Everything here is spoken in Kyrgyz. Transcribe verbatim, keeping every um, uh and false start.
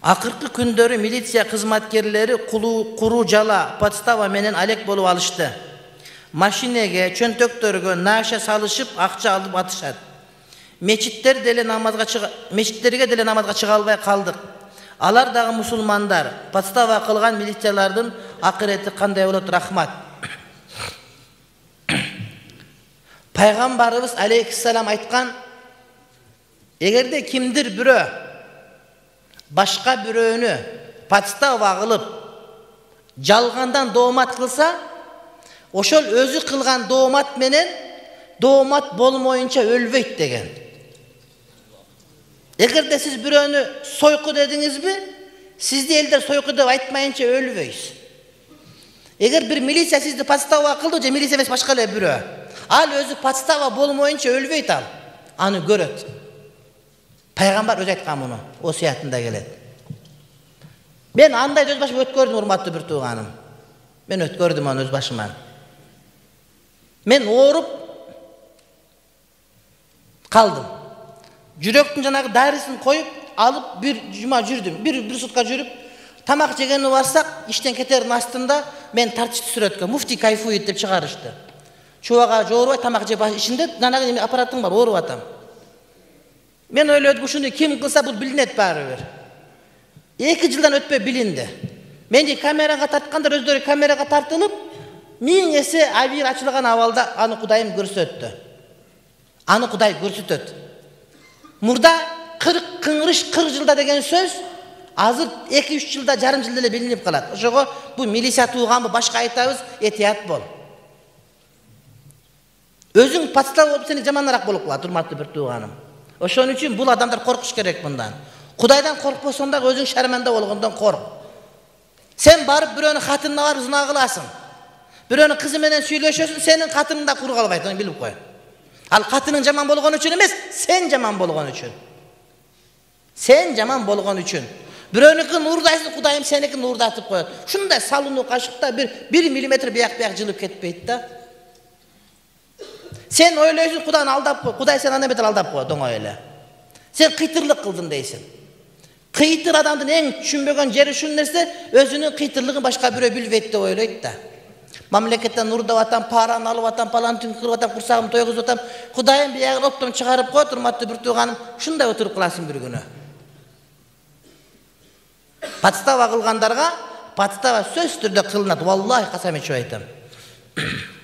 Акыркы күндөрү милиция кызматкерлери куру жала подстава менен алек болуп алышты. Машинеге, чөнтөктөргө наша салышып, акча алып атышат. Мечиттер деле намазга чыга, мечиттерге деле намазга чыга албай калдык. Алар дагы мусулмандар. Подстава кылган милициялардын акырети кандай болот? Рахмат. Пайгамбарыбыз алейхиссалам айткан: эгерде кимдир бирөө башка бирөөнү подстава кылып жалгандан доомат кылса, ошол өзү кылган доомат менен доомат болмоюнча өлбөйт деген. Эгерде сиз бирөөнү сойку дедиңизби, сизди элдер сойку деп айтмайынча өлбөйсүз. Эгер бир милиция сизди подстава кылды, же милиция эмес башка эле бирөө, ал өзү подстава болмоюнча өлбөйт, ал аны көрөт. Пайгамбар өзү айткан муну, осуятында келет. Мен андай өз башыма өткөрдүм, урматтуу бир тууганым. Мен өткөрдүм аны өз башыма. Мен ооруп калдым. Жүрөктүн жанагы дарысын коюп алып бир жума жүрдүм. Бир бир сутка жүрүп, тамак жегени барсак, иштен кетердин астында мен тартышты сүрөткө муфти кайфует деп чыгарышты. Чубага жоорубай тамак жеп ишинде жанагы аппаратың бар, ооруп атам. Мен ойлодум, ушуну ким кылса бул билинет баары бир. Эки жылдан өтпөй билинди. Менди камерага тарткандар өздөрү камерага тартылып, миң эсе абийир ачылган абалда аны Кудайым көрсөттү. Аны Кудай көрсөтөт. Мурда кырк кыңрыш кырк жылда деген сөз азыр эки үч жылда, жарым жылда эле билинип калат. Ошого бу милиция тууганбы, башка айтабыз, этият бол. Өзүң подстава болуп сени жаманыраак болуп калат, урматтуу бир тууганым. Ошон үчүн бул адамдар коркуш керек мындан. Кудайдан коркпосоң да өзүң шарманда болгондон корк. Сен барып бирөөнүн хатынына барып зына кыласың. Бирөөнүн кызы менен сүйлөшөсүң, сенин катының да кур калбайт, аны билип кой. Ал катының жаман болгон үчүн эмес, сен жаман болгон үчүн. Сен жаман болгон үчүн. Бирөөнүкүн уурдайсың, Кудайым сеникин уурдатып коет. Ушундай салынуу кашыкта бир бир миллиметр бияк-бияк жылып кетпейт да. Сен ойлойсуң, Кудайны алдап кой. Кудай сени андай бетер алдап коет, оңой эле. Сен кыйтырлык кылдың дейсиң. Кыйтыр адамдын эң түшүнбөгөн жери ушул нерсе, өзүнүн кыйтырлыгын башка бирөө билбейт деп ойлойт да. Мамлекеттен уурдап атам, параны алып атам, палантын кырып атам, курсагымды тойгузуп атам. Кудайым биягын оптон чыгарып коет, урматтуу бир тууганым. Ушундай отуруп каласың бир күнү. Подстава кылгандарга подстава сөзсүз түрдө кылынат. Валлахи касам ичип айтам.